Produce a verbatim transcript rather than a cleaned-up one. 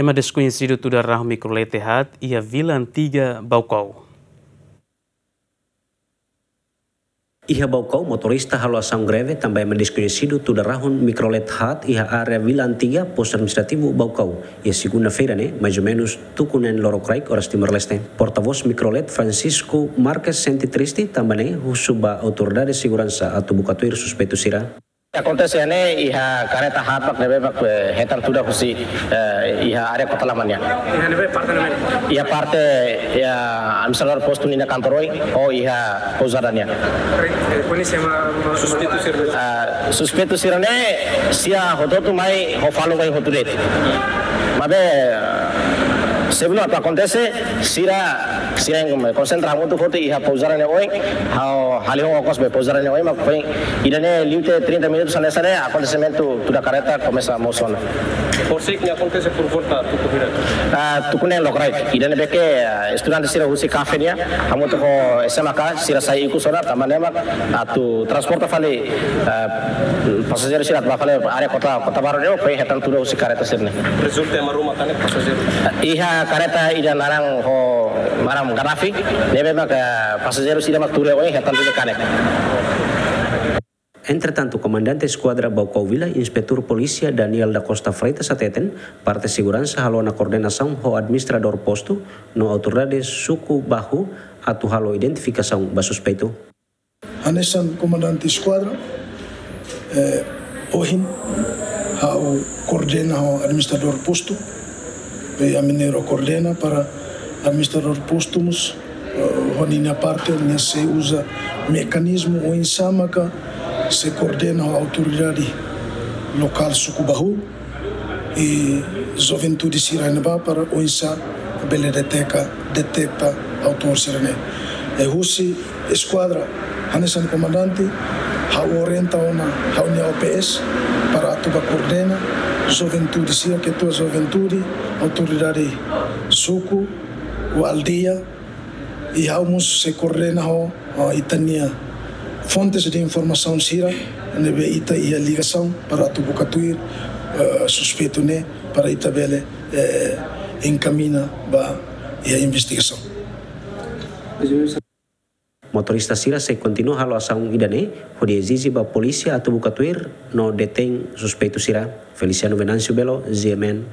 Ema deskoñesidu tuda rahun mikrolet haat iha Vila Antiga, Baucau. Iha Baucau, motorista halo asaun greve tanba ema deskoñesidu tuda rahun mikrolet haat iha área Vila Antiga, Postu Administrativu Baucau, iha segunda-feira ne'e, mais ou menus tuku neen lorokraik oras Timor-Leste. Portavós mikrolet, Francisco Marques, sente triste tanba ne'e husu ba autoridade seguransa atu buka tuir suspeitu sira. Akontese ne'e iha kareta haat mak ne'ebé mak, eh, hetan tuda husi, eh, iha área Kota Lama nian. Iha ne'ebé parte ne'ebé? Iha parte, iha administradór postu nia kantor oin, ou iha pousada nian. Eh, koñese ema, ema suspeitu sira? Ah, suspeitu sira ne'e, sira hotu-hotu mai ho falun oin hotu de'it. Maibé, eh, sebelum atu akontese, sira, sira konsentra hamutuk hotu iha pousada nia oin, ha'u halihong okos be pousada nia oin, mak foin ida-ne'e liu tiha trinta minutus hanesan ne'e, akontesimentu tuda kareta komesa mosu ona. Horisehik ne'e akontese por volta tuku hira? Ah, tuku neen lorokraik. Ida-ne'ebé ke, ah, estudante sira husi kafe nian, hamutuk ho S M K, sira sai ikus ona, tanba ne'e mak atu transporta fali, ah, pasajeiru sira atu bá fali área Kota, Kota Baru ne'e, foin hetan tuda husi kareta sira-ne'e. Rezulta ema ruma kanek pasajeiru? Iha kareta ida naran ho naran Gaddafi, ne'ebé mak, ah, pasajeiru sira mak tuur iha oin hetan tuda kanek. Entretantu, Komandante Eskuadra Baucau Vila, Inspetór Polísia Daniel da Costa Freitas hateten, parte seguransa halo ona koordenasaun ho administradór postu no autoridade suku Bahu atu halo identifikasaun ba suspeitu. Hanesan Komandante Eskuadra, eh, ohin ha'u koordena ho administradór postu, eh, ami na'in-rua koordena para administradór postu mós, eh, ho ninia parte, nia sei uza mekanizmu oinsá maka sei koordena ho autoridade lokál suku Bahu, i juventude sira-ne'ebá para oinsá bele deteta, deteta autór sira-ne'e. I husi eskuadra, hanesan komandante, ha'u orienta ona ha'u-nia O P S para atu bá koordena juventude sira, ketua juventude, autoridade suku, ou aldeia, i ha'u mós sei koordena ho, ho ita-nia fontes de informasaun sira ne'ebé ita iha ligasaun para atu buka tuir, eh, suspeitu ne'e para ita bele, eh, enkamiña ba iha investigasaun. Motorista sira sei kontinua halo asaun ida-ne'e, hodi ezije ba polísia atu buka tuir no detein suspeitu sira. Feliciano Venâncio Belo, G M N,